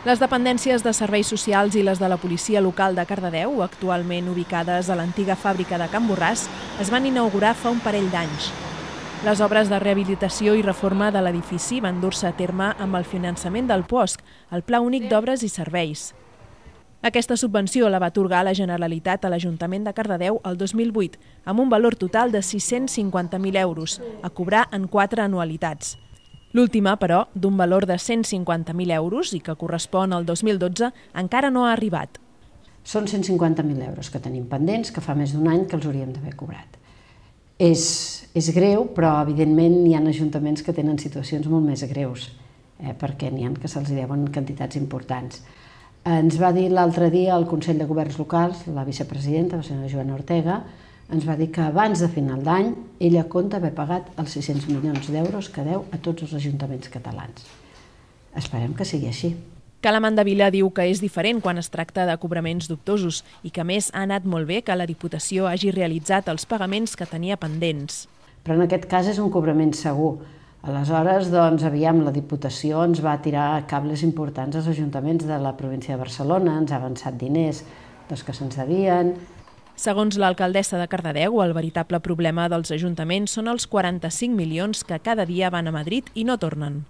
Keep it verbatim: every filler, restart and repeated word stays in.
Les dependències de serveis socials i les de la policia local de Cardedeu, actualment ubicades a l'antiga fàbrica de Can Borràs, es van inaugurar fa un parell d'anys. Les obres de rehabilitació i reforma de l'edifici van dur-se a terme amb el finançament del P O S C, el Pla Únic d'Obres i Serveis. Aquesta subvenció la va atorgar la Generalitat a l'Ajuntament de Cardedeu el dos mil vuit, amb un valor total de sis-cents cinquanta mil euros, a cobrar en quatre anualitats. L'última, però, d'un valor de cent cinquanta mil euros i que correspon al dos mil dotze, encara no ha arribat. Són cent cinquanta mil euros que tenim pendents, que fa més d'un any que els hauríem d'haver cobrat. És, és greu, però evidentment hi ha ajuntaments que tenen situacions molt més greus, eh, perquè n'hi ha que se'ls deuen quantitats importants. Ens va dir l'altre dia el Consell de Governs Locals, la vicepresidenta, la senyora Joana Ortega, ens va dir que abans de final d'any ella compta haver pagat els sis-cents milions d'euros que deu a tots els ajuntaments catalans. Esperem que sigui així. Cala Mandevila diu que és diferent quan es tracta de cobraments dubtosos i que a més ha anat molt bé que la Diputació hagi realitzat els pagaments que tenia pendents. Però en aquest cas és un cobrament segur. Aleshores, doncs, aviam, la Diputació ens va tirar cables importants als ajuntaments de la província de Barcelona, ens ha avançat diners doncs, que se'ns devien. Segons l'alcaldessa de Cardedeu, el veritable problema dels ajuntaments són els quaranta-cinc milions que cada dia van a Madrid i no tornen.